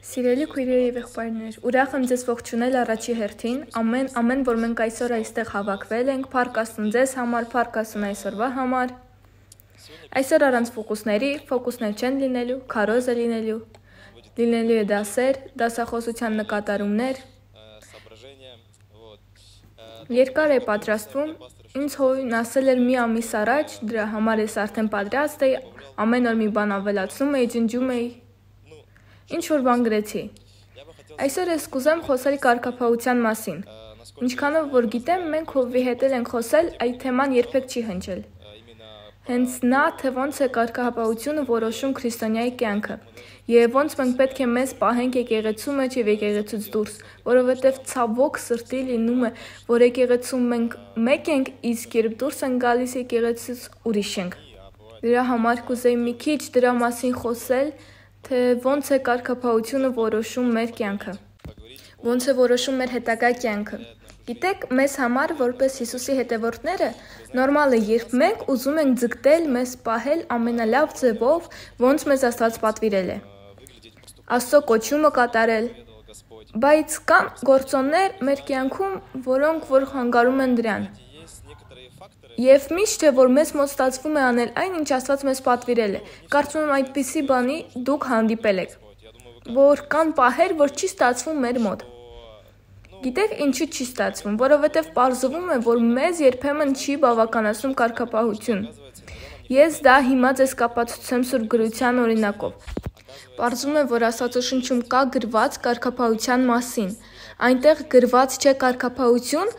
Սիրելի քույրեր եւ եղբայրներ, ուրախ եմ ձեզ ողջունել առաջի հերթին, ամեն որ մենք այսօր այստեղ հավաքվել ենք, փառք Աստծուն ձեզ համար, փառք Աստծուն այսօրվա համար։ Այսօր առանց ֆոկուսներ չեն լինելու, քարոզ է լինելու է դասեր, դասախոսության նկատառումներ։ Երկար է պատրաստվում, ինձ հույն ասել էր մի ամիս առաջ, դրա համար ես արդեն պատրաստ էի, ամեն օր մի բան ավելացնում էի, ջնջում էի։ Ինչ որ բան գրեցի։ Այսօր ես կուզեմ խոսել կարգապահության մասին։ Ինչքանով որ գիտեմ, մենք Հովվի հետ ենք խոսել, այդ թեման երբեք չի հնչել։ Հենց նա, թե ոնց է կարգապահությունը որոշում քրիստոնյայի կյանքը, եւ ոնց մենք պետք է մեզ պահենք եկեղեցու մեջ եւ եկեղեցուց դուրս, որովհետեւ ցավոք սրտի լինում է, որ եկեղեցում մենք մեկ ենք, իսկ երբ դուրս ենք գալիս եկեղեցուց ուրիշ ենք։ Դրա համար կուզեի մի քիչ դրա մասին խոսել, թե ոնց է կարգապահությունը որոշում մեր կյանքը, ոնց է որոշում մեր հետագա կյանքը։ Գիտեք, մեզ համար, որպես Հիսուսի հետևորդները, նորմալ է, երբ մենք ուզում ենք ձգտել, մեզ պահել ամենալավ ձևով, ոնց մեզ Աստված պատվիրել է։ Աստծո կոչումը կատարել, բայց կան գործոններ մեր կյանքում, որոնք որ խանգարում են դրան։ Եվ միշտ չէ, որ մեզ մոտ ստացվում է անել այն, ինչ Աստված մեզ պատվիրել է։ Կարծում եմ այդպիսի բանի դուք հանդիպել եք, որ կան պահեր, որ չի ստացվում մեր մոտ։ Գիտեք, ինչու չի ստացվում, որովհետև պարզվում է, որ մեզ երբեմն չի բավականացնում կարգապահություն։ Ես դա հիմա ձեզ կապացուցեմ Սուրբ գրության օրինակով։ Պարզվում է, որ Աստվածաշնչում կա գրված կարգապահության մասին։ Այնտեղ գրված չէ կարգապահություն,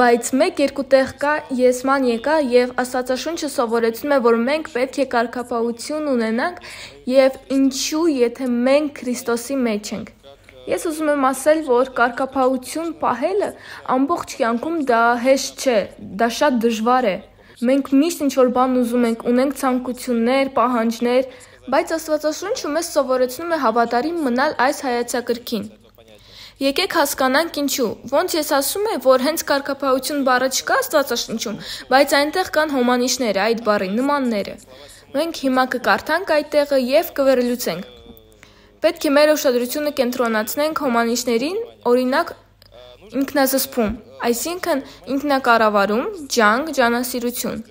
բայց մեկ-երկու տեղ կա եսման եկա եւ Աստվածաշունչը սովորեցնում է, որ մենք պետք է կարգապահություն ունենանք եւ ինչու, եթե մենք Քրիստոսի մեջ ենք։ Ես ուզում եմ ասել, որ կարգապահություն պահելը ամբողջ կյանքում դա հեշտ չէ, դա շատ դժվար է։ Մենք միշտ ինչ-որ բան ուզում ենք, ունենք ցանկություններ, պահանջներ, բայց Աստվածաշունչը մեզ սովորեցնում է հավատարիմ մնալ այս հայեցակարգին։ Եկեք հասկանանք ինչու։ Ոնց ես ասում եմ, որ հենց կարգապահություն բառը չկա Աստվածաշնչում, բայց այնտեղ կան հոմանիշները, այդ բառի նմանները։ Մենք հիմա կկարդանք այդ տեղը եւ կվերլուծենք։ Պետք է մեր ուշադրությունը կենտրոնացնենք հոմանիշներին, օրինակ ինքնազսպում, այսինքն ինքնակառավարում, ջանք, ջանասիրություն։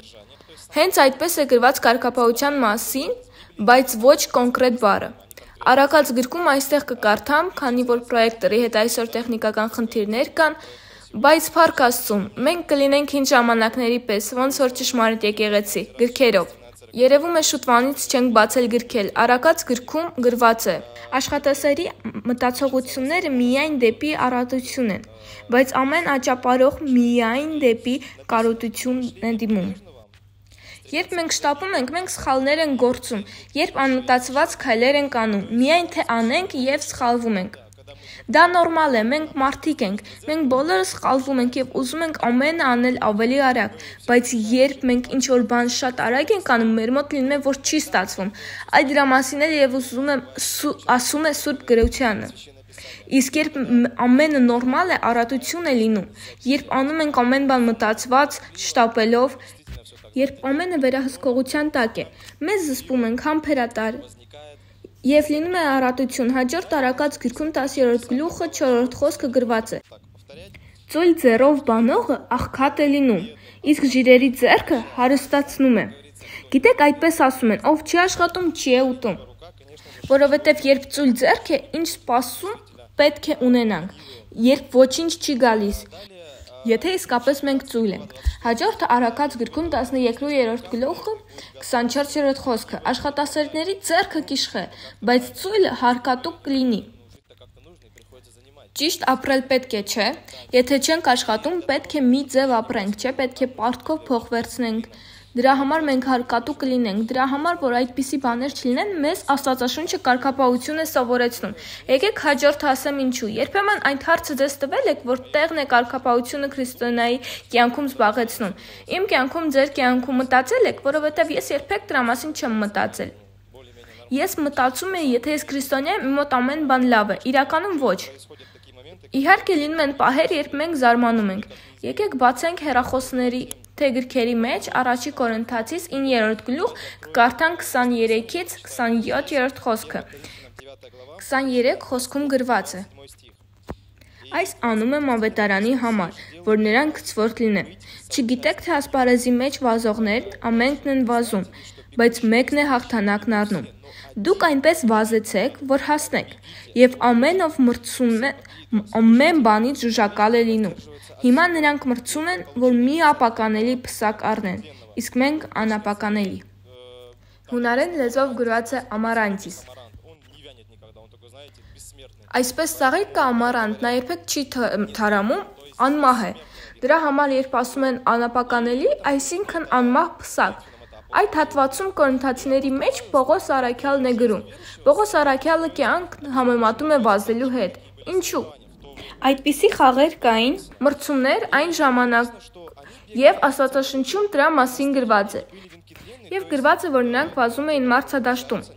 Հենց այդպես է գրված կարգապահության մասին, բայց ոչ կոնկրետ բառը։ Արաքած գրքում այստեղ կկարդամ, քանի որ պրոյեկտորի հետ այսօր տեխնիկական խնդիրներ կան, բայց փառք Աստծուն, մենք կլինենք հին ժամանակների պես, ոնց որ ճշմարիտ եկեղեցի, գրքերով։ Երևում է շուտվանից չենք բացել գրքել, արաքած գրքում գրված է. Աշխատասերի մտածողությունները միայն դեպի առատություն են, բայց ամեն աճապարող միայն դեպի կարոտություն է դիմում։ Երբ մենք շտապում ենք, մենք սխալներ ենք գործում, երբ անմտածված քայլեր ենք անում, միայն թե անենք եւ սխալվում ենք։ Դա նորմալ է, մենք մարդիկ ենք, մենք բոլորը սխալվում ենք եւ ուզում ենք ամենը անել ավելի արագ, բայց երբ մենք ինչ-որ բան շատ արագ ենք անում, մեր մոտ լինում է, որ չի ստացվում։ Այդ դրա մասին էլ եւ ասում է Սուրբ գրությունը։ Իսկ երբ ամենը նորմալ է, առատություն է լինում, երբ անում ենք ամեն բան մտածված, շտապելով, երբ ամենը վերահսկողության տակ է, մեզ զսպում ենք համբերատար եւ լինում է առատություն։ Հաջորդ արաքած գրքում 10-րդ գլուխը 4-րդ խոսքը գրված է. Ծույլ ձեռով բանողը աղքատ է լինում, իսկ ժիրերի ձեռքը հարստացնում է։ Գիտեք, այդպես ասում են, ով չի աշխատում, չի է ուտում։ Որովհետեւ երբ ծույլ ձեռք է, ինչ սպասում պետք է ունենանք, երբ ոչինչ չի գալիս։ Եթե իսկապես մենք ծույլ ենք։ Հաջորդը արաքած գրքում 12-րդ գլուխը 24-րդ խոսքը. Աշխատասերների ձեռքը կիշխե, բայց ծույլը հարկատու կլինի։ Ճիշտ ապրել պետք է, չէ՞։ Եթե չենք աշխատում, պետք է մի ձև ապրենք, չէ՞, պետք է պարտքով փող վերցնենք։ Դրա համար մենք հարկատու կլինենք, դրա համար, որ այդպիսի բաներ չլինեն, մեզ Աստվածաշունչը կարգապահություն է սովորեցնում։ Եկեք հաջորդը ասեմ ինչու։ Երբեմն այդ հարցը ձեզ տվել եք, որ տեղն է կարգապահությունը քրիստոնյայի կյանքում զբաղեցնում։ Իմ կյանքում, ձեր կյանքում մտածել եք, որովհետև ես երբեք դրա մասին չեմ մտածել։ Ես մտածում եմ, եթե ես քրիստոնյա եմ, իմ մոտ ամեն բան լավ է, իրականում ոչ։ Իհարկե լինում են պահեր, երբ մենք զարմանում ենք։ Եկեք բացենք հեռախոսների թե գրքերի մեջ առաջի Կորինթացիս 9-րդ գլուխ կկարդանք 23-ից 27-րդ խոսքը։ 23 խոսքում գրված է. Այս անում եմ ավետարանի համար, որ նրան գցվորդ լինեմ։ Չգիտեք, թե ասպարեզի մեջ վազողներն ամենքն են վազում, բայց մեկն է հաղթանակն առնում։ Դուք այնպես վազեցեք, որ հասնեք, եւ ամեն ով մրցում է, ամեն բանից ժուժակալ է լինում։ Հիմա նրանք մրցում են, որ մի ապականելի պսակ առնեն, իսկ մենք անապականելի։ Հունարեն լեզվով գրված է ամարանտիս։ Այսպես ծաղիկ կա ամարանտ, նա երբեք չի թարամում, անմահ է։ Դրա համար երբ ասում են անապականելի, այսինքն անմահ պսակ։ Այդ հատվածում կորինթացիների մեջ Պողոս առաքյալն է գրում։ Պողոս առաքյալը կյանք համեմատում է վազելու հետ։ Ինչու՞։ Այդպիսի խաղեր կային, մրցումներ այն ժամանակ եւ Աստվածաշնչում դրա մասին գրված է։ Եվ գրված է, որ նրանք վազում էին մարտադաշտում։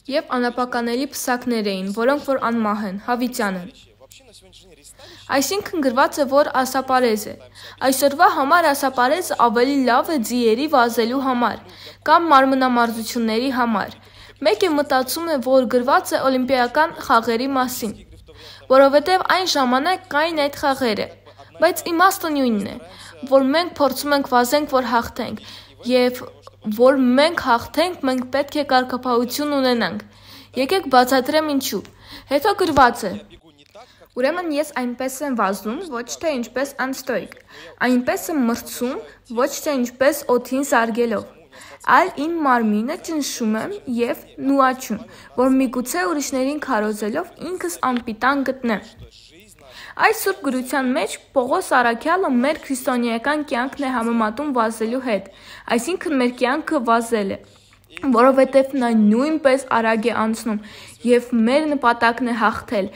Եվ անապականելի պսակներ էին, որոնք որ անմահ են, հավիտյան են։ Այսինքն գրված է, որ ասապարեզ է։ Այսօրվա համար ասապարեզը ավելի լավ է ձիերի վազելու համար, կամ մարմնամարզությունների համար։ Մեկը մտածում է, որ գրված է օլիմպիական խաղերի մասին, որովհետև այն ժամանակ կային այդ խաղերը, բայց իմաստը նույնն է, որ մենք փորձում ենք վազենք, որ հաղթենք, եւ որ մենք հաղթենք, մենք պետք է կարգապահություն ունենանք։ Եկեք բացատրեմ ինչու։ Հետո գրված է. Ուրեմն ես այնպես եմ վազում, ոչ թե ինչպես անստոիկ, այնպես եմ մրցում, ոչ թե ինչպես օդին զարգելով, այլ իմ մարմինը ճնշում եմ եւ նուաչում, որ միգուցե ուրիշներին քարոզելով ինքս անպիտան գտնեմ։ Այս սուրբ գրության մեջ Պողոս առաքյալը մեր քրիստոնեական կյանքն է համեմատում վազելու հետ, այսինքն մեր կյանքը վազել է, որովհետև նա նույնպես արագ է անցնում եւ մեր նպատակն է հաղթել։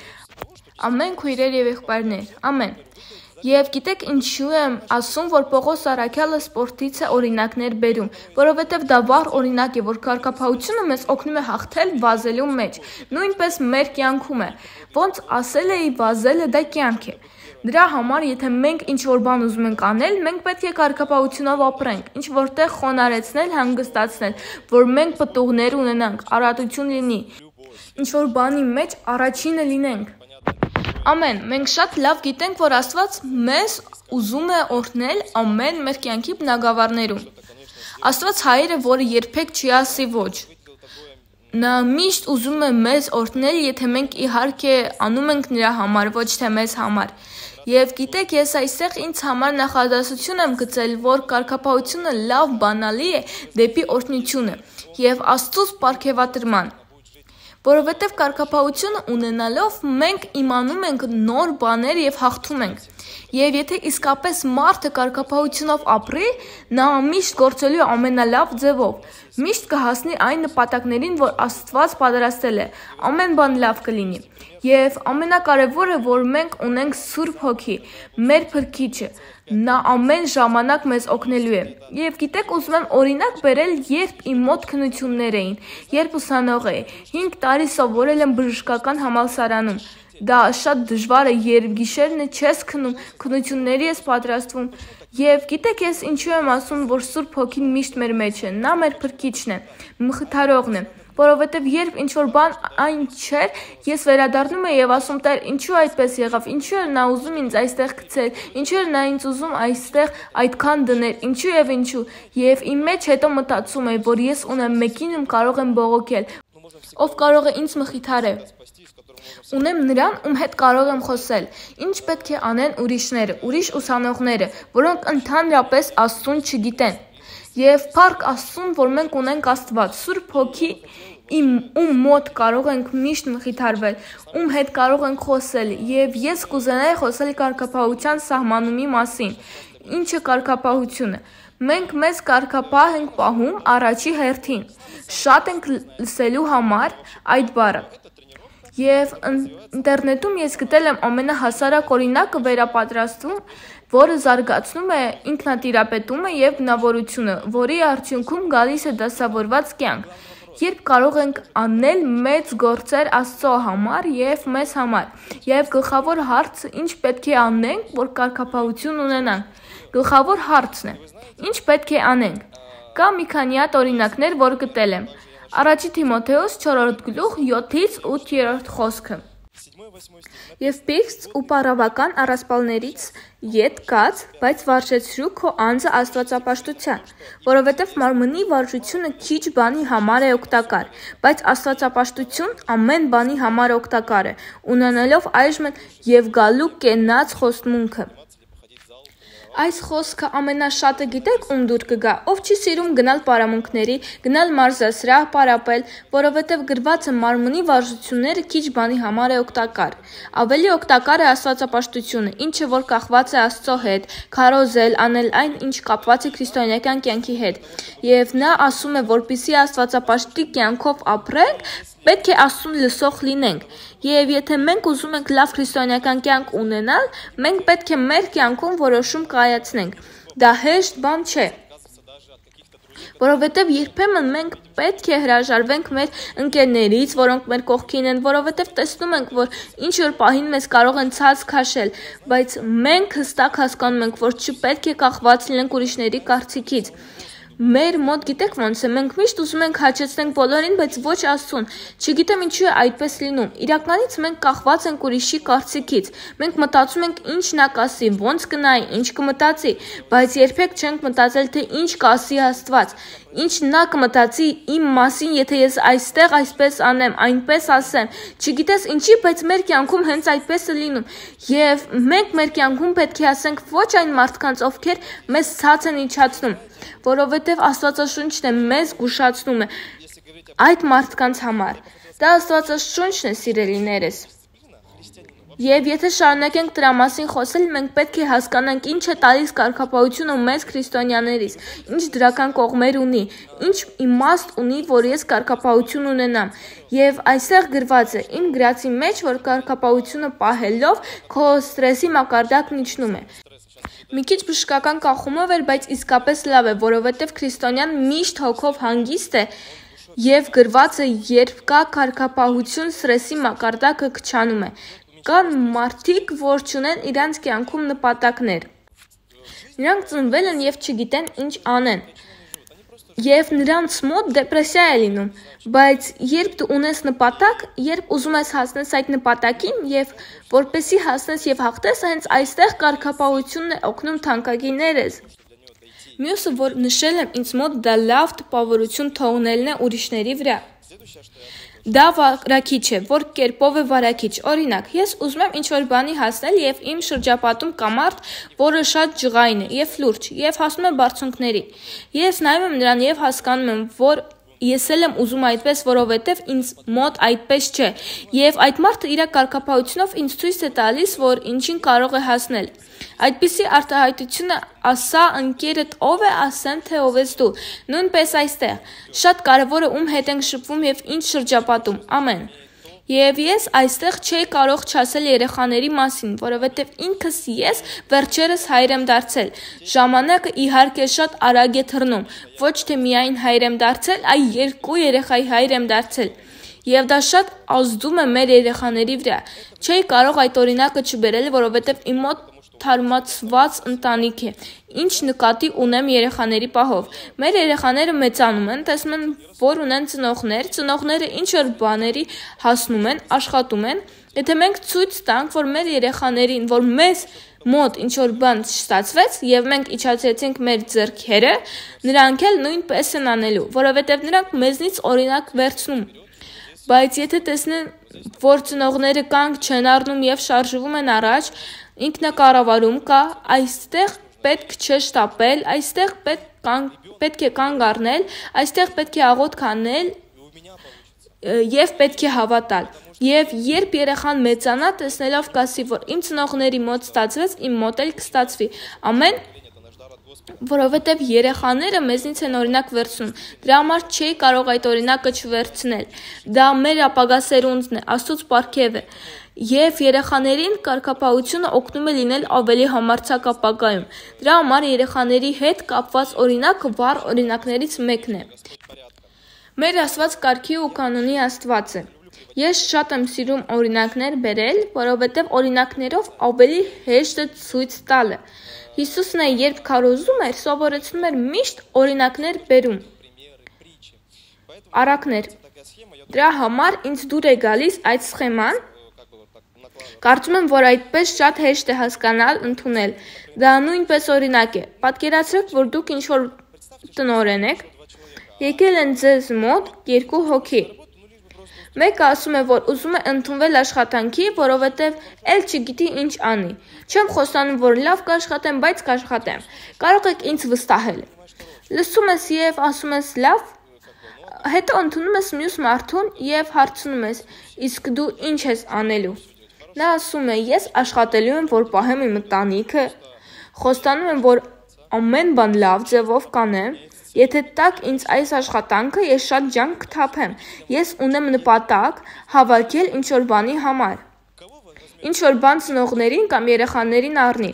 Ամեն քույրեր եւ եղբայրներ, ամեն։ Եվ գիտեք ինչու եմ ասում, որ Պողոս առաքյալը սպորտից է օրինակներ բերում, որովհետև դա վառ օրինակ է, որ կարգապահությունը մեզ օգնում է հաղթել վազելու մեջ, նույնպես մեր կյանքում է, ոնց ասել էի, վազելը դա կյանք է։ Դրա համար, եթե մենք ինչ-որ բան ուզում ենք անել, մենք պետք է կարգապահությունով ապրենք, ինչ-որտեղ խոնարհեցնել, հանգստացնել, որ մենք պտուղներ ունենանք, առատություն լինի, ինչ-որ բանի մեջ առաջինը լինենք։ Ամեն, մենք շատ լավ գիտենք, որ Աստված մեզ ուզում է օրհնել ամեն մեր կյանքի բնագավառներում։ Աստված հայր է, որը երբեք չի ասի ոչ։ Նա միշտ ուզում է մեզ օրհնել, եթե մենք իհարկե անում ենք նրա համար, ոչ թե մեզ համար։ Եվ գիտեք, ես այստեղ ինձ համար նախադասություն եմ գծել, որ կարգապահությունը լավ բանալի է դեպի օրհնությունը եւ Աստծուց պարգևատրման։ Որովհետև կարգապահությունը ունենալով մենք իմանում ենք նոր բաներ եւ հաղթում ենք։ Եվ եթե իսկապես մարդը կարգապահությունով ապրի, նա միշտ գործելու է ամենալավ ձևով, միշտ կհասնի այն նպատակներին, որ Աստված պատրաստել է, ամեն բան լավ կլինի։ Եվ ամենակարևորը, որ մենք ունենք Սուրբ Հոգի, մեր Փրկիչը, նա ամեն ժամանակ մեզ օգնելու է։ Եվ գիտեք, ուզում եմ օրինակ բերել, երբ իմ մոտ քննություններ էին, երբ ուսանող էի, 5 տարի սովորել եմ բժշկական համալսարանում։ Դա շատ դժվար է, երբ գիշերն է չես քնում, քննությունների ես պատրաստվում։ Եվ գիտեք, ես ինչու եմ ասում, որ Սուրբ Հոգին միշտ մեր մեջ է, նա մեր Փրկիչն է, մխիթարողն է, որովհետև երբ ինչ-որ բան այն չէր, ես վերադառնում եի եւ ասում Տեր, ինչու այդպես եղավ, ինչու էր նա ուզում ինձ այստեղ գցել, ինչու էր նա ինձ ուզում այստեղ այդքան դնել, ինչու եւ ինչու։ Եվ իմ մեջ հետո մտածում եի, որ ես ունեմ մեկին, ում կարող եմ բողոքել, ով կարող է ինձ մխիթարել։ Ունեմ նրան, ում հետ կարող եմ խոսել, ինչ պետք է անեն ուրիշները, ուրիշ ուսանողները, որոնք ընդհանրապես Աստծուն չգիտեն։ Եվ փառք Աստծուն, որ մենք ունենք Աստված, Սուրբ Հոգի, ում մոտ կարող ենք միշտ մխիթարվել, ում հետ կարող ենք խոսել, եւ ես կուզենայի խոսել կարգապահության սահմանումի մասին։ Ինչը կարգապահությունը։ Մենք մեզ կարգապահ ենք պահում առաջի հերթին։ Շատ ենք լսելու համար այդ բառը։ Եվ ինտերնետում ես գտել եմ ամենահասարակ օրինակը վերապատրաստում, որը զարգացնում է ինքնատիրապետումը եւ բնավորությունը, որի արդյունքում գալիս է դասավորված կյանք, երբ կարող ենք անել մեծ գործեր Աստծո համար եւ մեզ համար։ Եվ գլխավոր հարցը ինչ պետք է անենք, որ կարգապահություն ունենանք։ Գլխավոր հարցն է. ինչ պետք է անենք։ Կա մի քանի հատ օրինակներ, որ գտել եմ։ Առաջի Թիմոթեոս 4-րդ գլուխ 7-ից 8-րդ խոսքը։ Եվ պիղծ ու պարավական առասպալներից ետ կաց, բայց վարժեցրու քո անձը աստվածապաշտության, որովհետև մարմնի վարժությունը քիչ բանի համար է օգտակար, բայց աստվածապաշտություն ամեն բանի համար օգտակար է, ունենալով այժմ և գալու կենաց խոստմունքը։ Այս խոսքը ամենաշատը գիտեք ում դուր կգա, ով չի սիրում գնալ պարամունքների, գնալ մարզասրահ պարապել, որովհետև գրված է մարմնի վարժությունները քիչ բանի համար է օգտակար։ Ավելի օգտակար է աստվածապաշտությունը, ինչը որ կախված է Աստծո հետ, քարոզել, անել այն, ինչ կապված է քրիստոնեական կյանքի հետ։ Եվ նա ասում է, որպեսզի աստվածապաշտի կյանքով ապրենք, պետք է Աստծուն լսող լինենք։ Եվ եթե մենք ուզում ենք լավ քրիստոնեական կյանք ունենալ, մենք պետք է մեր կյանքում որոշում կայացնենք։ Դա հեշտ բան չէ։ Որովհետև երբեմն մենք պետք է հրաժարվենք մեր ընկերներից, որոնք մեր կողքին են, որովհետև տեսնում ենք, որ ինչ-որ պահին մեզ կարող են ցած քաշել, բայց մենք հստակ հասկանում ենք, որ չպետք է կախված լինենք ուրիշների կարծիքից։ Մեր մոտ գիտեք ոնց է, մենք միշտ ուզում ենք հաճեցնենք բոլորին, բայց ոչ Աստծուն։ Չգիտեմ ինչու է այդպես լինում։ Իրականից մենք կախված ենք ուրիշի կարծիքից։ Մենք մտածում ենք ինչ նա կասի, ոնց կնայի, ինչ կմտածի, բայց երբեք չենք մտածել, թե ինչ կասի Աստված։ Ինչ նա կմտածի իմ մասին, եթե ես այստեղ այսպես անեմ, այնպես ասեմ։ Չգիտես ինչի, բայց մեր կյանքում հենց այդպես է լինում։ Եվ մենք մեր կյանքում պետք է ասենք ոչ այն մարդկանց, ովքեր մեզ ցած են իջացնում, որովհետև Աստվածաշունչն է մեզ զգուշացնում է այդ մարդկանց համար։ Դա Աստվածաշունչն է, սիրելիներս։ Եվ եթե շարունակենք դրա մասին խոսել, մենք պետք է հասկանանք ինչ է տալիս կարգապահությունը մեզ քրիստոնյաներից, ինչ դրական կողմեր ունի, ինչ իմաստ ունի, որ ես կարգապահություն ունենամ։ Եվ այստեղ գրված է իմ գրածի մեջ, որ կարգապահությունը պահելով քո ստրեսի մակարդակն իջնում է։ Մի քիչ բժշկական կախումով էր, բայց իսկապես լավ է, որովհետև քրիստոնյան միշտ հոգով հանգիստ է եւ գրված է, երբ կա կարգապահություն, ստրեսի մակարդակը քչանում է։ Կան մարդիկ, որ չունեն իրանց կյանքում նպատակներ։ Նրանք ծնվել են եւ չգիտեն ինչ անեն։ Եվ նրանց մոտ դեպրեսիա է լինում, բայց երբ դու ունես նպատակ, երբ ուզում ես հասնես այդ նպատակին եւ որպեսի հասնես եւ հաղթես, հենց այստեղ կարգապահությունն է օգնում թանկագիներս։ Մյուսը, որ նշել եմ ինձ մոտ, դա լավ տպավորություն թողնելն է ուրիշների վրա։ Դա վարակիչ է, որ կերպով է վարակիչ։ Օրինակ, ես ուզում եմ ինչ-որ բանի հասնել եւ իմ շրջապատում կա մարդ, որը շատ ջղայն է եւ լուրջ եւ հասնում է բարձունքների։ Ես նայում եմ նրան եւ հասկանում եմ, որ ես էլ եմ ուզում այդպես, որովհետև ինձ մոտ այդպես չէ, եւ այդ մարդը իր կարգապահությունով ինձ ցույց է տալիս, որ ինչին կարող է հասնել։ Այդպիսի արտահայտությունը ասա ընկերդ ով է, ասեմ թե ով ես դու։ Նույնպես այստեղ շատ կարևոր է ում հետ ենք շփվում եւ ինչ շրջապատում։ Ամեն։ Եվ ես այստեղ չէի կարող չասել երեխաների մասին, որովհետև ինքս ես վերջերս հայր եմ դարձել։ Ժամանակը իհարկե շատ արագ է թռնում, ոչ թե միայն հայր եմ դարձել, այլ 2 երեխայի հայր եմ դարձել։ Եվ դա շատ ազդում է մեր երեխաների վրա։ Չէի կարող այդ օրինակը չբերել, որովհետև իմ մոտ թարմացված ընտանիք է, ինչ նկատի ունեմ երեխաների պահով։ Մեր երեխաները մեծանում են, տեսնում են, որ ունեն ծնողները ինչ-որ բաների հասնում են, աշխատում են։ Եթե մենք ցույց տանք, որ մեր երեխաներին, որ մեզ մոտ ինչ-որ բան չստացվեց եւ մենք իջացրեցինք մեր ձեռքերը, նրանք էլ նույնպես են անելու, որովհետեւ նրանք մեզնից օրինակ վերցնում։ Բայց եթե տեսնեն, որ ծնողները կանգ չեն առնում եւ շարժվում են առաջ, ինքնակառավարում կա, այստեղ պետք չէ շտապել, այստեղ պետք է կանգ առնել, այստեղ պետք է աղոթք անել եւ պետք է հավատալ։ Եվ երբ երեխան մեծանա, տեսնելով կասի, որ իմ ծնողների մոտ ստացվեց, իմ մոտ էլ կստացվի։ Ամեն, որովհետև երեխաները մեզնից են օրինակ վերցնում։ Դրա համար չի կարող այդ օրինակը չվերցնել։ Դա մեր ապագա սերունդն է, Աստծոց պարգև է։ Եվ երեխաներին կարգապահությունը օգնում է լինել ավելի համարձակ ապագայում։ Դրա համար երեխաների հետ կապված օրինակը վառ օրինակներից մեկն է։ Մեր Աստված կարգի ու կանոնի Աստված է։ Ես շատ եմ սիրում օրինակներ բերել, որովհետև օրինակներով ավելի հեշտ է ցույց տալը։ Հիսուսն է, երբ քարոզում էր, սովորեցնում էր միշտ օրինակներ բերում։ Արակներ։ Դրա համար ինձ դուր է գալիս այդ սխեման։ Կարծում եմ, որ այդպես շատ հեշտ է հասկանալ, ընդունել։ Դա նույնպես օրինակ է։ Պատկերացրեք, որ դուք ինչ-որ տնօրեն եք, եկել են ձեզ մոտ 2 հոգի։ Մեկը ասում է, որ ուզում է ընդունվել աշխատանքի, որովհետև էլ չգիտի ինչ անի։ Չեմ խոստանում, որ լավ կաշխատեմ, բայց կաշխատեմ։ Կարող եք ինձ վստահել։ Լսում ես եւ ասում ես լավ, հետո ընդունում ես մյուս մարդուն եւ հարցնում ես, իսկ դու ինչ ես անելու։ Նա ասում է, ես աշխատելու եմ, որ պահեմ իմ ընտանիքը, խոստանում եմ, որ ամեն բան լավ ձևով կանեմ, եթե տաք ինձ այս աշխատանքը, ես շատ ջանք կթափեմ, ես ունեմ նպատակ հավաքել ինչ-որ բանի համար, ինչ-որ բան ծնողներին կամ երեխաներին առնի,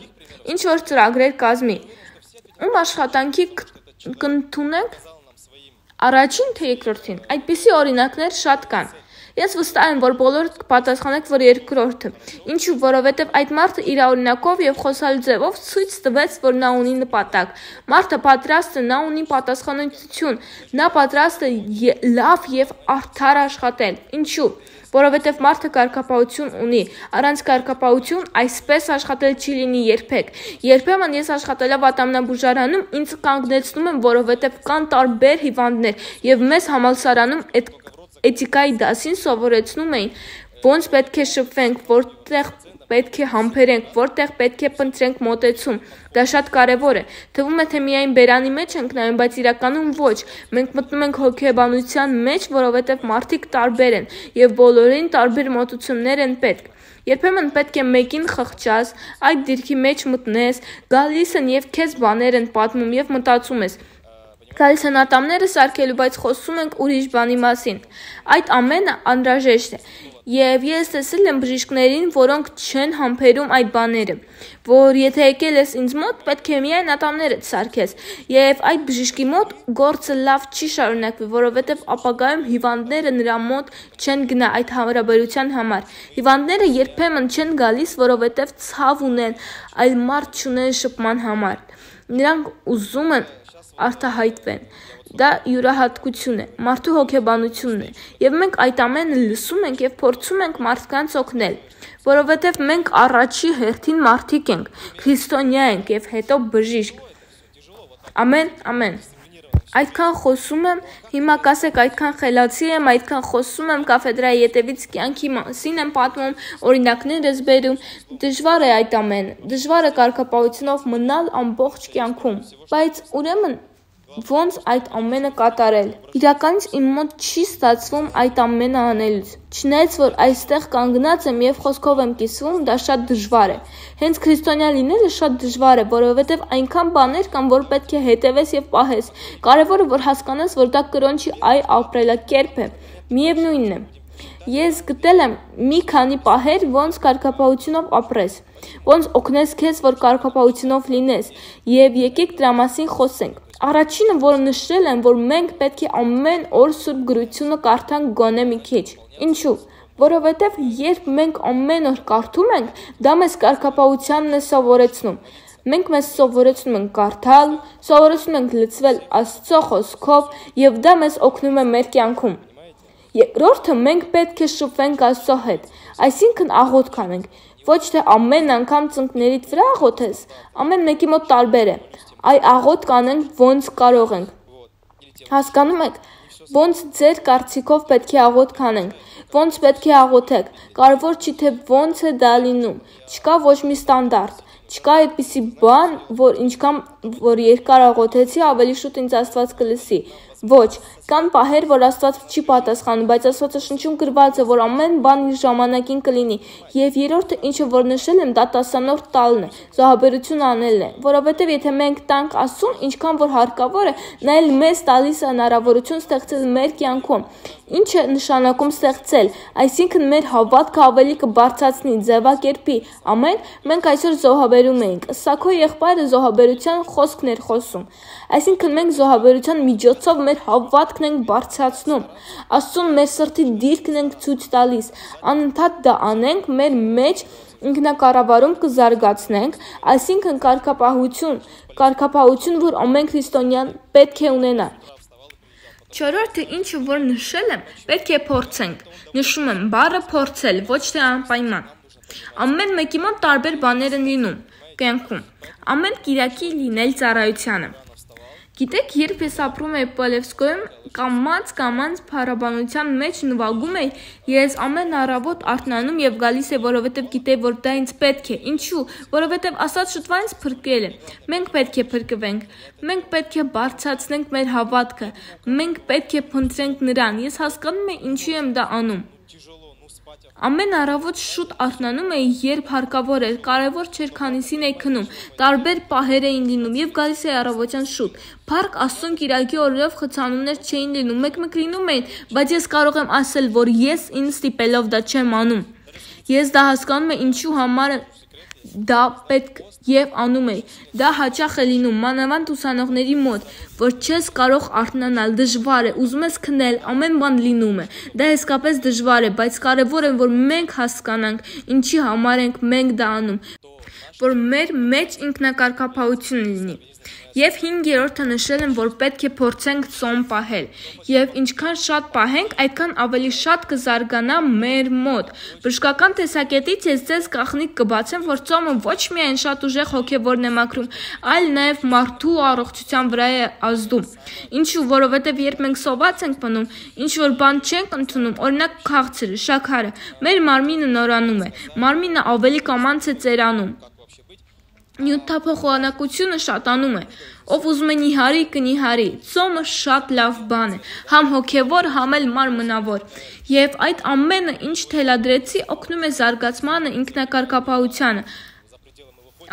ինչ-որ ծրագրեր կազմի, ում աշխատանքի կընդունենք, առաջին թե երկրորդին, այդպիսի օրինակներ շատ կան։ Ես վստահ եմ, որ բոլորդ կպատասխանեք, որ երկրորդը, ինչու, որովհետև այդ մարդը իր օրինակով եւ խոսալու ձևով ցույց տվեց, որ նա ունի նպատակ։ Մարդը պատրաստ է, նա ունի պատասխանատվություն, նա պատրաստ է լավ եւ արդար աշխատել։ Ինչու, որովհետև մարդը կարգապահություն ունի, առանց կարգապահություն այսպես աշխատել չի լինի երբեք։ Երբեմն ես աշխատելով ատամնաբուժարանում ինձ կանգնեցնում եմ, որովհետև կան տարբեր հիվանդներ եւ մեզ համալսարանում այդ էթիկայի դասին սովորեցնում էին, ոնց պետք է շփվենք, որտեղ պետք է համբերենք, որտեղ պետք է փնտրենք մոտեցում։ Դա շատ կարևոր է։ Թվում է, թե միայն բերանի մեջ ենք նայում, բայց իրականում ոչ։ Մենք մտնում ենք հոգեբանության մեջ, որովհետև մարդիկ տարբեր են եւ բոլորին տարբեր մոտություններ են պետք։ Երբեմն պետք է մեկին խղճաս, այդ դիրքի մեջ մտնես, գալիս են եւ քեզ բաներ են պատմում եւ մտածում ես։ Գալիս են ատամները սարքելու, բայց խոսում ենք ուրիշ բանի մասին։ Այդ ամենը անհրաժեշտ է։ Եվ ես տեսել եմ բժիշկներին, որոնք չեն համբերում այդ բաները, որ եթե եկել ես ինձ մոտ, պետք է միայն ատամներդ սարքես։ Եվ այդ բժիշկի մոտ գործը լավ չի շարունակվի, որովհետև ապագայում հիվանդները նրա մոտ չեն գնա այդ հարաբերության համար։ Հիվանդները երբեմն չեն գալիս, որովհետև ցավ ունեն, այլ մարդ չունեն շփման համար։ Նրանք ուզում են արտահայտվեն։ Դա յուրահատկություն է, մարդու հոգեբանությունն է, եւ մենք այդ ամենը լսում ենք եւ փորձում ենք մարդկանց օգնել, որովհետեւ մենք առաջի հերթին մարդիկ ենք, քրիստոնյա ենք եւ հետո բժիշկ։ Ամեն, ամեն։ Այդքան խոսում եմ, հիմա կասեք այդքան խելացի եմ, այդքան խոսում եմ կաֆեդրայի ետևից կյանքի մասին եմ պատմում, օրինակներ ես բերում, դժվար է այդ ամենը, դժվար է կարգապահությունով մնալ ամբողջ կյանքում, բայց ուրեմն ոնց այդ ամենը կատարել։ Իրականից իմ մոտ չի ստացվում այդ ամենը անելուց։ Չնայած որ այստեղ կանգնած եմ եւ խոսքով եմ կիսվում, դա շատ դժվար է։ Հենց քրիստոնյա լինելը շատ դժվար է, որովհետեւ այնքան բաներ կան, որ պետք է հետևես եւ պահես։ Կարևորը որ հասկանաս, որ դա կրոնչի ապրելակերպ է։ Միևնույնն է։ Ես գտել եմ մի քանի պահեր, ոնց կարգապահությունով ապրես, ոնց օգնես քեզ, որ կարգապահությունով լինես, եւ եկեք դրա մասին խոսենք։ Առաջինը, որ նշել եմ, որ մենք պետք է ամեն օր Սուրբ Գրությունը կարդանք գոնե մի քիչ։ Ինչու՞։ Որովհետև երբ մենք ամեն օր կարդում ենք, դա մեզ կարգապահությանն է սովորեցնում։ Մենք մեզ սովորեցնում ենք կարդալ, սովորեցնում ենք լցվել Աստծո խոսքով, եւ դա մեզ օգնում է մեր կյանքում։ Երկրորդը, մենք պետք է շփվենք Աստծո հետ, այսինքն աղոթք անենք։ Ոչ թե ամեն անգամ ծնկներիդ վրա աղոթես, ամեն մեկի մոտ տարբեր է։ Այ աղոթք անենք ոնց կարող ենք։ Հասկանում եք, ոնց ձեր կարծիքով պետք է աղոթք անենք, ոնց պետք է աղոթեք, կարևոր չի թե ոնց է դա լինում, չկա ոչ մի ստանդարտ, չկա այդպիսի բան, որ ինչքան որ երկար աղոթեցի, ավելի շուտ ինձ Աստված կլսի։ Ոչ, կան պահեր, որ Աստված չի պատասխանում, բայց Աստվածաշնչում գրված է, որ ամեն բան իր ժամանակին կլինի։ Եվ երրորդը, ինչը որ նշել եմ, դա 10-րդ տալն է, զոհաբերություն անելն է, որովհետև եթե մենք տանք Աստծուն, ինչքան որ հարկավոր է, նա էլ մեզ տալիս է հնարավորություն ստեղծել մեր կյանքում։ Ինչ է նշանակում ստեղծել, այսինքն մեր հավատքը ավելի կբարձրացնի, ձևակերպի։ Ամեն, մենք այսօր զոհաբերում էինք։ Սա քո եղբայրը զոհաբերության խոսքն էր խոսում։ Այսինքն մենք զոհաբերության միջոցով մեր հավատքն ենք բարձրացնում, Աստծուն մեր սրտի դիրքն ենք ցույց տալիս, անընդհատ դա անենք, մեր մեջ ինքնակառավարում կզարգացնենք, այսինքն կարգապահություն, որ ամեն քրիստոնյան պետք է ունենա։ Չորրորդը ինչը որ նշել եմ, պետք է փորձենք։ Նշում եմ բառը փորձել, ոչ թե անպայման։ Ամեն մեկի մոտ տարբեր բաներ են լինում կյանքում։ Ամեն կիրակի լինել ծառայությանը։ Գիտեք, երբ ես ապրում էի Պոլևսկոյում, կամաց փառաբանության մեջ նվագում էի, ես ամեն առավոտ արթնանում եւ գալիս էի, որովհետեւ գիտեի, որ դա ինձ պետք է։ Ինչու՞, որովհետեւ ասած շուտվա ինձ փրկել է։ Մենք պետք է փրկվենք։ Մենք պետք է բարձրացնենք մեր հավատքը։ Մենք պետք է փնտրենք նրան։ Ես հասկանում եմ ինչու եմ դա անում։ Ամեն առավոտ շուտ արթնանում էի, երբ հարկավոր էր, կարևոր չէր քանիսին էի քնում, տարբեր պահեր էին լինում եւ գալիս էի առավոտյան շուտ։ Փառք Աստծուն կիրակի օրերով խցանումներ չէին լինում, մեկ լինում էին, բայց ես կարող եմ ասել, որ ես ինձ ստիպելով դա չեմ անում։ Ես դա հասկանում եմ ինչու համար դա պետք եւ անում էի։ Դա հաճախ է լինում մանավանդ ուսանողների մոտ, որ չես կարող արթնանալ, դժվար է, ուզում ես քնել, ամեն բան լինում է։ Դա իսկապես դժվար է, բայց կարևոր է, որ մենք հասկանանք, ինչի համար ենք մենք դա անում, որ մեր մեջ ինքնակարգապահություն լինի։ Եվ 5-րդը նշել եմ, որ պետք է փորձենք ծոմ պահել, եւ ինչքան շատ պահենք, այդքան ավելի շատ կզարգանա մեր մոտ։ Բժշկական տեսակետից ես ձեզ գաղտնիք կբացեմ, որ ծոմը ոչ միայն շատ ուժեղ հոգեվորն է մաքրում, այլ նաեւ մարդու առողջության վրա է ազդում։ Ինչու, որովհետեւ երբ մենք սոված ենք մնում, ինչ որ բան չենք ընդունում, օրինակ քաղցրը, շաքարը, մեր մարմինը նորանում է, մարմինը ավելի կամանց է ծերանում։ Նյութափոխանակությունը շատանում է, ով ուզում է նիհարի կնիհարի, ծոմը շատ լավ բան է, համ հոգևոր, համ էլ մարմնավոր, եւ այդ ամենը, ինչ թելադրեցի, օգնում է զարգացմանը, ինքնակարգապահությանը,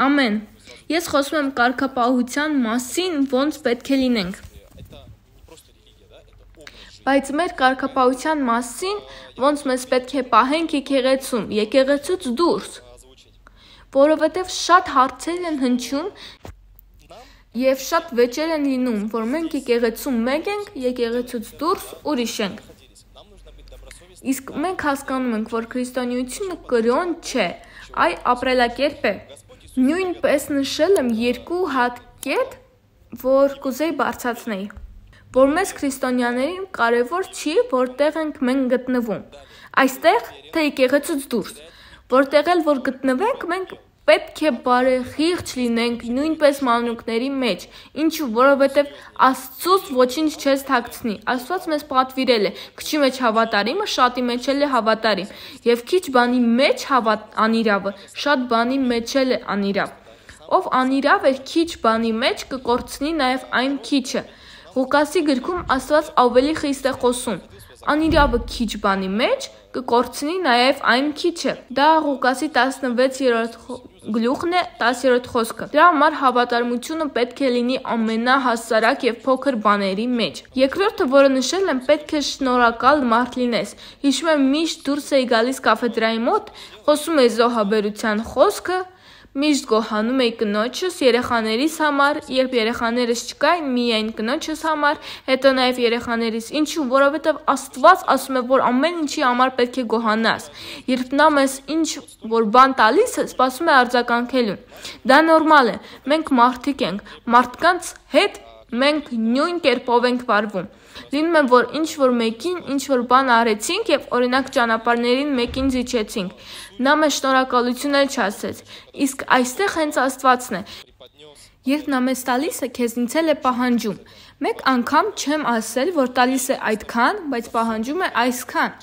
ամեն, ես խոսում եմ կարգապահության մասին, ոնց պետք է լինենք, բայց մեր կարգապահության մասին, ոնց մեզ պետք է պահենք եկեղեցում, եկեղեցուց դուրս, որովհետև շատ հարցեր են հնչում եւ շատ վեճեր են լինում, որ մենք եկեղեցում մեկ ենք, եկեղեցուց դուրս ուրիշ ենք։ Իսկ մենք հասկանում ենք, որ քրիստոնեությունը կրոն չէ, այ ապրելակերպ է։ Նույնպես նշել եմ 2 հատ կետ, որ կուզեի բարձրացնել, որ մեզ քրիստոնյաներին կարևոր չի, որտեղ ենք մենք գտնվում։ Այստեղ թե եկեղեցուց դուրս, որտեղ էլ որ գտնվենք, մենք պետք է բարեխիղճ լինենք նույնպես մանրուքների մեջ, ինչու, որովհետև Աստծուց ոչինչ չես թաքցնի, Աստված մեզ պատվիրել է, քչի մեջ հավատարիմը շատի մեջ էլ է հավատարիմ, եւ քիչ բանի մեջ անիրավը, շատ բանի մեջ էլ է անիրավ, ով անիրավ է քիչ բանի մեջ կկորցնի նաեւ այն քիչը, Ղուկասի գրքում Աստված ավելի խիստ է խոսում, անիրավը քիչ բանի մեջ կկորցնի նաև այն քիչը։ Դա Ղուկասի 16-րդ գլուխն է 10-րդ խոսքը։ Դրա համար հավատարմությունը պետք է լինի ամենահասարակ եւ փոքր բաների մեջ։ Երկրորդը, որը նշել եմ, պետք է շնորհակալ մարդ լինես։ Հիշում եմ միշտ դուրս էի գալիս կաֆեդրայի մոտ, խոսում էի զոհաբերության խոսքը, միշտ գոհանում էի կնոջս, երեխաներիս համար, երբ երեխաներս չկային, միայն կնոջս համար, հետո նաև երեխաներիս, ինչու, որովհետև Աստված ասում է, որ ամեն ինչի համար պետք է գոհանաս, երբ նա մեզ ինչ որ բան տալիս է, սպասում է արձագանքելու, դա նորմալ է, մենք մարդիկ ենք, մարդկանց հետ մենք նույն կերպով ենք վարվում, լինում է, որ ինչ որ մեկին, ինչ որ բան արեցինք և օրինակ ճանապարհներին մեկին զիջեցինք, նա մեզ շնորհակալություն էլ չասեց, իսկ այստեղ հենց Աստվածն է, երբ նա մեզ տալիս է, քեզնից էլ է պահանջում, մեկ անգամ չեմ ասել, որ տալիս է այդքան, բայց պահանջում է այսքան,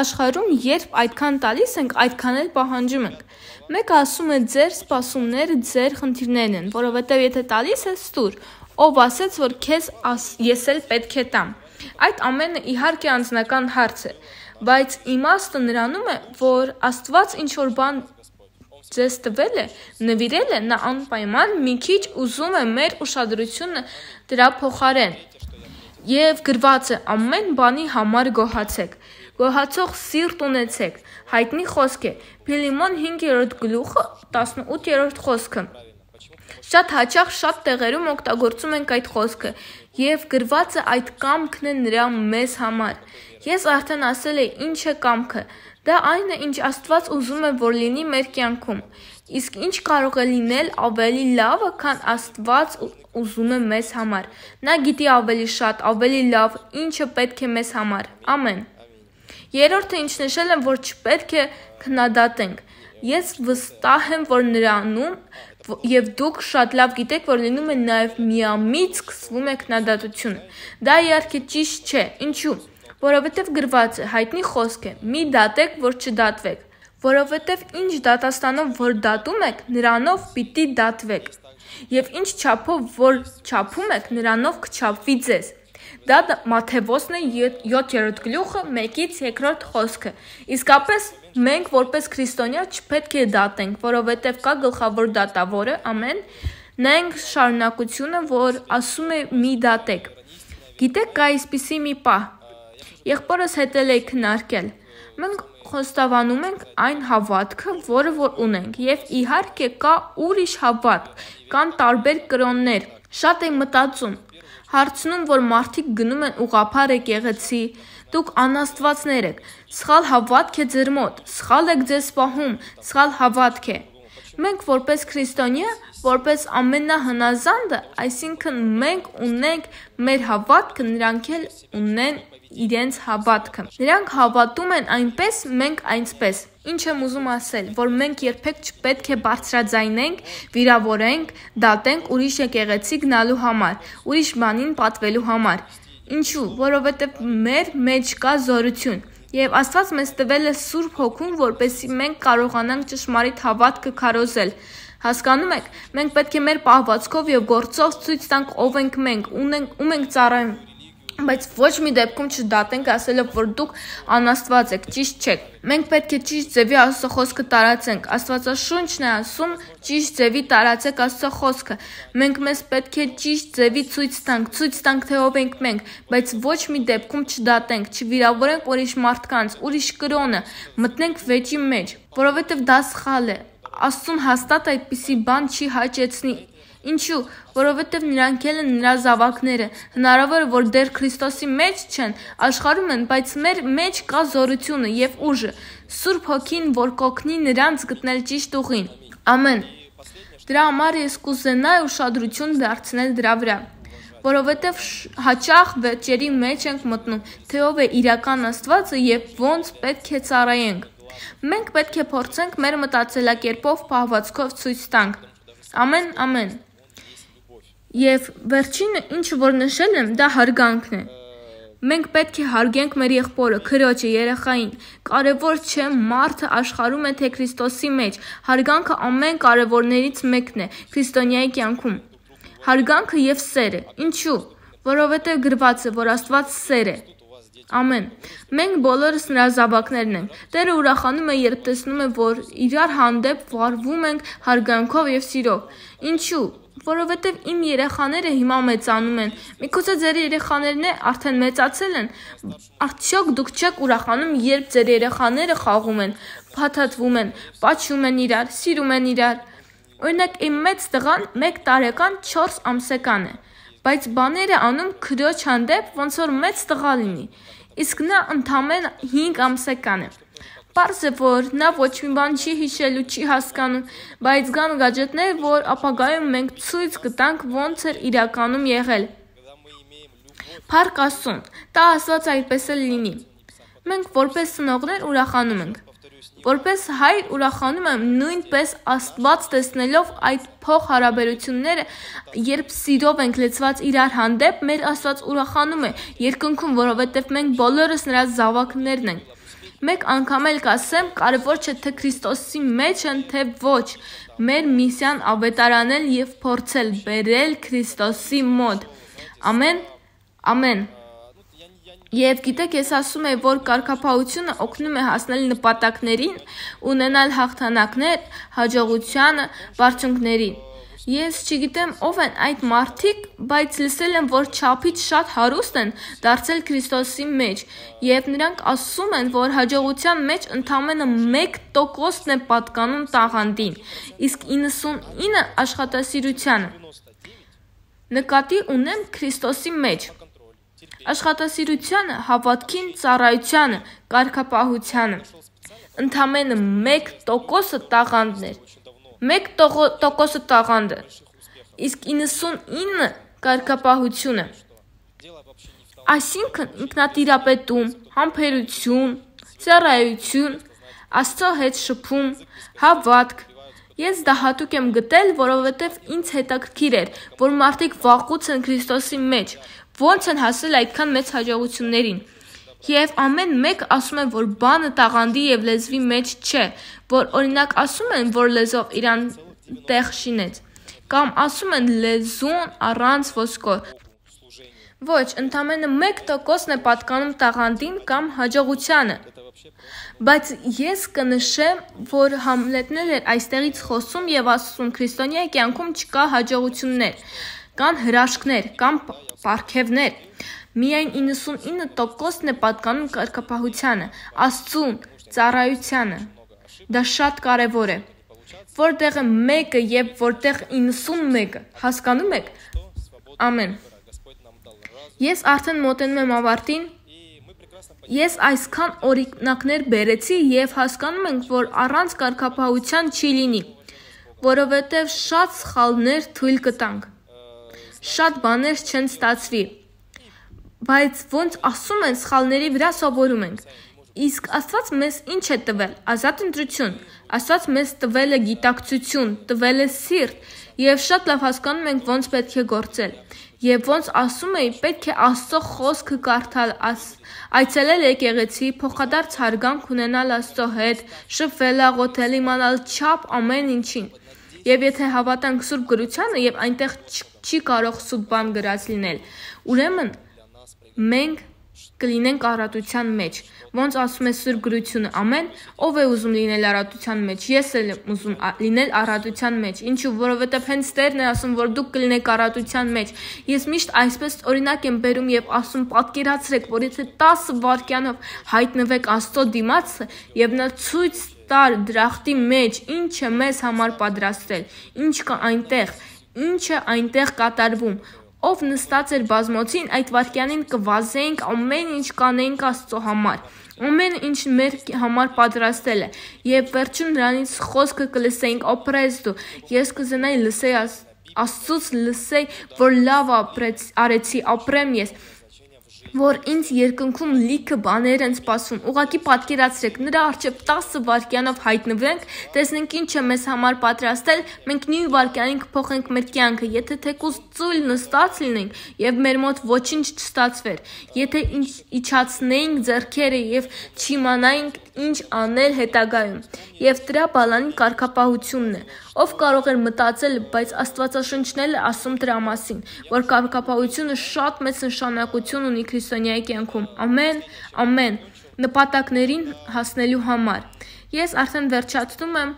աշխարհում երբ այդքան տալիս ենք, այդքան էլ պահանջում ենք, մեկը ասում է ձեր սպասումները ձեր խնդիրներն են, որովհետև եթե տալիս ես ստուր, ով ասեց, որ քեզ ես էլ պետք է տամ, այդ ամենը իհարկե անձնական հարց է, բայց իմաստը նրանում է, որ Աստված ինչ որ բան ձեզ տվել է, նվիրել է, նա անպայման մի քիչ ուզում է մեր ուշադրությունը դրա փոխարեն, եւ գրված է ամեն բանի համար գոհացեք, գոհացող սիրտ ունեցեք, հայտնի խոսք է, Փիլիմոն 5-րդ գլուխը 18-րդ խոսքը, շատ հաճախ շատ տեղերում օգտագործում ենք այդ խոսքը եւ գրված է այդ կամքն է նրա մեզ համար։ Ես արդեն ասել եմ ինչ է կամքը։ Դա այն է, ինչ Աստված ուզում է, որ լինի մեր կյանքում։ Իսկ ինչ կարող է լինել ավելի լավը, քան Աստված ուզում է մեզ համար։ Նա գիտի ավելի շատ, ավելի լավ, ինչը պետք է մեզ համար։ Ամեն։ Երրորդը, ինչ նշել եմ, որ չպետք է քննադատենք։ Ես վստահ եմ, որ նրանում եւ դուք շատ լավ գիտեք, որ լինում է նաեւ միամիտ սկսվում է քննադատությունը։ Դա իհարկե ճիշտ չէ։ Ինչու՞։ Որովհետեւ գրված է, հայտնի խոսք է. մի դատեք, որ չդատվեք։ Որովհետև ինչ դատաստանով որ դատում եք, նրանով պիտի դատվեք, և ինչ չափով որ չափում եք, նրանով կչափվի ձեզ։ Դա Մատթեոսն է 7-րդ գլուխը 1-2 խոսքը։ Իսկապես մենք որպես քրիստոնյա չպետք է դատենք, որովհետև կա գլխավոր դատավորը, ամեն, նայենք շարունակությունը, որ ասում է մի դատեք։ Գիտեք, կա այսպիսի մի պահ, եղբորս հետել է քննարկել, մենք խոստովանում ենք այն հավատքը, որը որ ունենք, եւ իհարկե կա ուրիշ հավատք, կան տարբեր կրոններ։ Շատ եմ մտածում, հարցնում, որ մարդիկ գնում են ուղղափառ եկեղեցի, դուք անաստվածներ եք, սխալ հավատք է ձեր մոտ, սխալ եք ձեզ պահում, սխալ հավատք է։ Մենք որպես քրիստոնյա, որպես ամենահնազանդը, այսինքն մենք ունենք մեր հավատքը, նրանք էլ ունեն իրենց հավատքը։ Նրանք հավատում են այնպես, մենք այնպես։ Ինչ եմ ուզում ասել, որ մենք երբեք չպետք է բարձրաձայնենք, վիրավորենք, դատենք ուրիշ եկեղեցի գնալու համար, ուրիշ բանին պատվելու համար։ Ինչու՞, որովհետև մեր մեջ կա զորություն։ Եվ Աստված մեզ տվել է Սուրբ Հոգուն, որպեսզի մենք կարողանանք ճշմարիտ հավատքը քարոզել։ Հասկանում եք, մենք պետք է մեր պահվածքով եւ գործով ցույց տանք ով ենք մենք, ում ենք ծառայում, բայց ոչ մի դեպքում չդատենք ասելով, որ դուք անաստված եք, ճիշտ չեք։ Մենք պետք է ճիշտ ձևի Աստծո խոսքը տարածենք։ Աստվածաշունչն է ասում ճիշտ ձևի տարածեք Աստծո խոսքը։ Մենք մեզ պետք է ճիշտ ձևի ցույց տանք թե ով ենք մենք, բայց ոչ մի դեպքում չդատենք, չվիրավորենք ուրիշ մարդկանց, ուրիշ կրոնը, մտնենք վեճի մեջ, որովհետև դա սխալ է։ Աստծուն հաստատ այդպիսի բան չի հաճեցնի։ Ինչու՞, որովհետև նրանք էլ են նրա զավակները, հնարավոր է, որ դեռ Քրիստոսի մեջ չեն, աշխարհում են, բայց մեր մեջ կա զորությունը եւ ուժը, Սուրբ Հոգին, որ կօգնի նրանց գտնել ճիշտ ուղին։ Ամեն։ Դրա համար ես կուզենայի ուշադրություն դարձնել դրա վրա, որովհետև հաճախ վեճերի մեջ ենք մտնում, թե ով է իրական Աստվածը եւ ոնց պետք է ծառայենք։ Մենք պետք է փորձենք մեր մտածելակերպով պահվածքով ցույց տանք։ Ամեն, ամեն։ Եվ վերջինը, ինչը որ նշել եմ, դա հարգանքն է։ Մենք պետք է հարգենք մեր եղբորը, քրոջը, երեխային։ Կարևոր չէ մարդը աշխարհում է թե Քրիստոսի մեջ։ Հարգանքը ամեն կարևորներից մեկն է քրիստոնյայի կյանքում։ Հարգանքը եւ սերը։ Ինչու՞։ Որովհետեւ գրված է, որ Աստված սեր է։ Ամեն։ Մենք բոլորս նրա զավակներն ենք։ Տերը ուրախանում է, երբ տեսնում է, որ իրար հանդեպ վարվում ենք հարգանքով եւ սիրով։ Ինչու՞։ Որովհետև իմ երեխաները հիմա մեծանում են։ Միգուցե ձեր երեխաներն արդեն մեծացել են։ Արդյոք դուք չեք ուրախանում, երբ ձեր երեխաները խաղում են, փաթաթվում են, պաչում են իրար, սիրում են իրար։ Օրինակ, իմ մեծ տղան 1 տարեկան 4 ամսեկան է, բայց բաներ է անում քրոջ հանդեպ, ոնց որ մեծ տղա լինի։ Իսկ նա ընդամենը 5 ամսեկան է։ Պարզ է, որ նա ոչ մի բան չի հիշելու, չի հասկանում, բայց կան գադջետներ, որ ապագայում մենք ցույց կտանք ոնց էր իրականում եղել։ Փառք Աստծուն, դա ասված այդպես էլ լինի։ Մենք որպես ծնողներ ուրախանում ենք։ Որպես հայր ուրախանում եմ նույնպես Աստված տեսնելով այդ փոխհարաբերությունները, երբ սիրով ենք լեցված իրար հանդեպ, մեր Աստված ուրախանում է, երկնքում, որովհետև մենք բոլորս նրա զավակներն ենք։ Մեկ անգամ էլ կասեմ, կարևոր չէ թե Քրիստոսի մեջ են, թե ոչ։ Մեր միսիան ավետարանել եւ փորձել բերել Քրիստոսի մոտ։ Ամեն, ամեն։ Եվ գիտեք, ես ասում եմ, որ կարգապահությունը օգնում է հասնել նպատակներին, ունենալ հաղթանակներ, հաջողությանը, բարձունքներին։ Ես չգիտեմ ով են այդ մարդիկ, բայց լսել եմ, որ չափից շատ հարուստ են դարձել Քրիստոսի մեջ, եւ նրանք ասում են, որ հաջողության մեջ ընդամենը 1%-ն է պատկանում տաղանդին, իսկ 99% աշխատասիրությանը։ Նկատի ունեմ Քրիստոսի մեջ։ Աշխատասիրությանը, հավատքին, ծառայությանը, կարգապահությանը։ Ընդամենը 1%-ը տաղանդներ։ 1% տաղանդ է, իսկ 99% կարգապահություն է։ Այսինքն ինքնատիրապետում, համբերություն, ծառայություն, Աստծո հետ շփում, հավատք։ Ես դա հատուկ եմ գտել, որովհետև ինձ հետաքրքիր էր, որ մարդիկ վաղուց են Քրիստոսի մեջ, ոնց են հասել այդքան մեծ հաջողություններին։ Եվ ամեն մեկ ասում են, որ բանը տաղանդի եւ լեզվի մեջ չէ, որ օրինակ ասում են, որ լեզվով իրան տեղ շինեց, կամ ասում են լեզուն առանց ոսկոր։ Ոչ, ընդամենը 1%-ն է պատկանում տաղանդին կամ հաջողությանը։ Բայց ես կնշեմ, որ Համլետն էր այստեղից խոսում եւ ասում քրիստոնյա կյանքում չկա հաջողություններ, կան հրաշքներ կամ պարգևներ։ Միայն 99%-ն է պատկանում կարգապահությանը, Աստծուն, ծառայությանը։ Դա շատ կարևոր է։ Որտեղ է 1-ը եւ որտեղ 91-ը, հասկանում եք։ Ամեն։ Ես արդեն մոտենում եմ ավարտին։ Ես այսքան օրինակներ բերեցի եւ հասկանում ենք, որ առանց կարգապահության չի լինի, որովհետեւ շատ սխալներ թույլ կտանք։ Շատ բաներ չեն ստացվի։ Բայց ոնց ասում են, սխալների վրա սովորում ենք։ Իսկ Աստված մեզ ինչ է տվել։ Ազատ ընտրություն։ Աստված մեզ տվել է գիտակցություն, տվել է սիրտ եւ շատ լավ հասկանում ենք ոնց պետք է գործել։ Եվ ոնց ասում էի, պետք է Աստծո խոսքը կարդալ, այցելել եկեղեցի, փոխադարձ հարգանք ունենալ Աստծո հետ, շփվել, աղոթել, իմանալ չափ ամեն ինչին։ Եվ եթե հավատանք Սուրբ գրությանը եւ այնտեղ չի կարող սուտ բան գրած լինել, ուրեմն մենք կլինենք առատության մեջ։ Ոնց ասում է Սուրբ գրությունը, ամեն, ով է ուզում լինել առատության մեջ, ես էլ եմ ուզում լինել առատության մեջ։ Ինչու, որովհետև հենց Տերն է ասում, որ դուք կլինեք առատության մեջ։ Ես միշտ այսպես օրինակ եմ բերում եւ ասում, պատկերացրեք, որ եթե 10 վայրկյանով հայտնվեք Աստծո դիմացը եւ նա ցույց տար դրախտի մեջ, ինչ է մեզ համար պատրաստել, ինչ կա այնտեղ, ինչ է այնտեղ կատարվում։ Ով նստած էր բազմոցին, այդ վայրկյանին կվազեինք, ամեն ինչ կանեինք Աստծո համար։ Ամեն ինչ մեր համար պատրաստել է, եւ վերջում նրանից խոսքը կլսեինք, օպրես դու, ես կուզենայի լսեի Աստծուց լսեի, որ լավ արեցի, ապրեմ ես, որ ինձ երկնքում լիքը բաներ են սպասում, ուղղակի պատկերացրեք, նրա առջև 10 վայրկյանով հայտնվենք, տեսնենք ինչ է մեզ համար պատրաստել, մենք նույն վայրկյանին կփոխենք մեր կյանքը, եթե թեկուզ ծույլ նստած լինենք եւ մեր մոտ ոչինչ չստացվեր, եթե իջացնեինք ձեռքերը եւ չիմանայինք ինչ անել հետագայում, եւ դրա բալանի կարգապահությունն է, ով կարող էր մտածել, բայց Աստվածաշնչն էլ է ասում դրա մասին, որ կարգապահությունը շատ մեծ նշանակություն ունի քրիստոնյայի կյանքում, ամեն, նպատակներին հասնելու համար։ Ես արդեն վերջացնում եմ,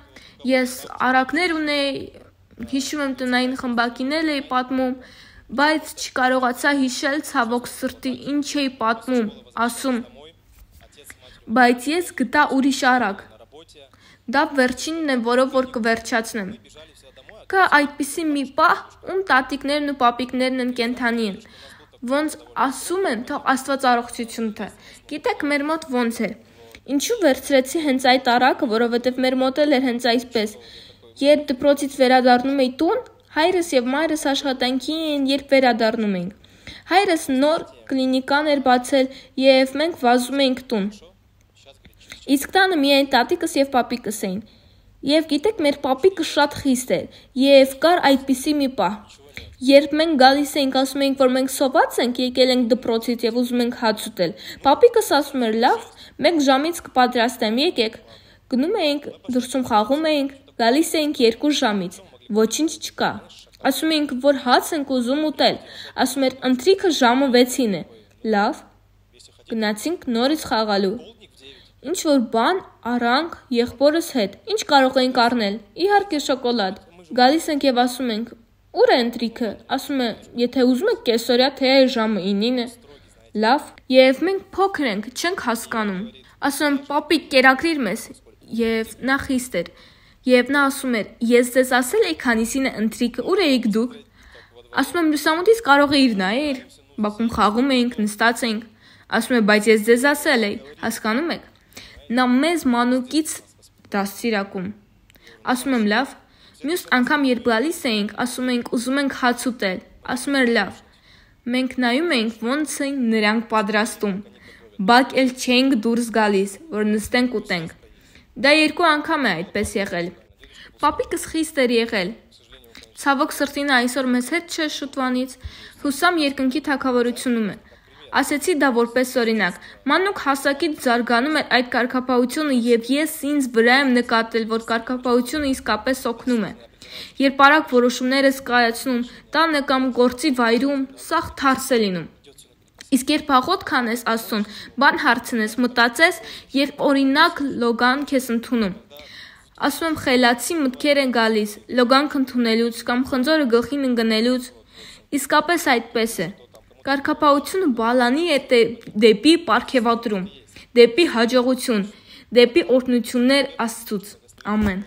ես արակներ ունեի, հիշում եմ տնային խմբակիներ էի պատմում, բայց չկարողացա հիշել ցավոք սրտի ինչ էի պատմում, ասում, բայց ես գտա ուրիշ արակ։ Դա վերջինն է, որով որ կվերջացնեմ։ Կա այդպիսի մի պահ, ում տատիկներն ու պապիկներն են կենթանի են, ոնց ասում են, թող Աստված առողջություն տա։ Գիտեք, մեր մոտ ոնց էր։ Ինչու վերցրեցի հենց այդ արակը, որովհետև մեր մոտ էլ էր հենց այսպես։ Երբ դպրոցից վերադառնում էի տուն, հայրս եւ մայրս աշխատանքի էին, երբ վերադառնում էինք։ Հայրս նոր կլինիկան էր բացել եւ մենք վազում էինք տուն։ Իսկ տանը միայն տատիկս եւ պապիկս էին։ Եվ գիտեք, մեր պապիկը շատ խիստ էր եւ կար այդպիսի մի պահ։ Երբ մենք գալիս էինք, ասում էինք, որ մենք սոված ենք, եկել ենք դպրոցից եւ ուզում ենք հաց ուտել։ Պապիկս ասում էր՝ լավ, 1 ժամից կպատրաստեմ, եկեք։ Գնում էինք, դրսում խաղում էինք, գալիս էինք 2 ժամից։ Ոչինչ չկա։ Ասում էինք, որ հաց ենք ուզում ուտել։ Ասում էր՝ ընթրիքը ժամը 6-ին է։ Լավ։ Գնացինք նորից խաղալու։ Ինչ որ բան առանք եղբորս հետ։ Ինչ կարող էինք առնել։ Իհարկե շոկոլադ։ Գալիս ենք եւ ասում ենք. «Ուր է ընթրիքը»։ Ասում է. «Եթե ուզում եք կեսօրյա թե ժամը 9-ին է»։ Լավ։ Եվ մենք փոքր ենք, չենք հասկանում։ Ասում եմ. «Պապիկ, կերակրիր մեզ»։ Եվ նա խիստ էր։ Եվ նա ասում էր. «Ես ձեզ ասել էի քանիսին է ընթրիքը, ուր էիք դուք»։ Ասում եմ. «Լուսամուտից կարող էիր նայել»։ Բակում խաղում էինք, նստած էինք։ Ասում է. «Բայց ես ձեզ ասել էի»։ Հասկանում եք։ Նա մեզ մանուկից դաստիարակում։ Ասում եմ՝ լավ, Մյուս անգամ երբ գալիս էինք, ասում էինք ուզում ենք հաց ուտել, ասում էր լավ, մենք նայում էինք ոնց են նրանք պատրաստում, բակ էլ չէինք դուրս գալիս, որ նստենք ուտենք, դա 2 անգամ է այդպես եղել, պապիկս խիստ էր եղել, ցավոք սրտի նա այսօր մեզ հետ չէ շուտվանից, հուսամ երկնքի թագավորությունում է, ասեցի դա որպես օրինակ, մանուկ հասակից զարգանում էր այդ կարգապահությունը և ես ինձ վրա եմ նկատել, որ կարգապահությունը իսկապես օգնում է, երբ արագ որոշումներ ես կայացնում, տանը կամ գործի վայրում, սաղ թարս է լինում, իսկ երբ աղոթք անես Աստծուն, բան հարցնես, մտածես, երբ օրինակ Լոգան քեզ ընդունում, ասում եմ խելացի մտքեր են գալիս, Լոգանք ընդունելուց կամ խնձորը գլխին ընկնելուց, իսկապես այդպես է, կարգապահությունը բալանի է դեպի պարգևատրում, դեպի հաջողություն, դեպի օրհնություններ Աստծուց, ամեն։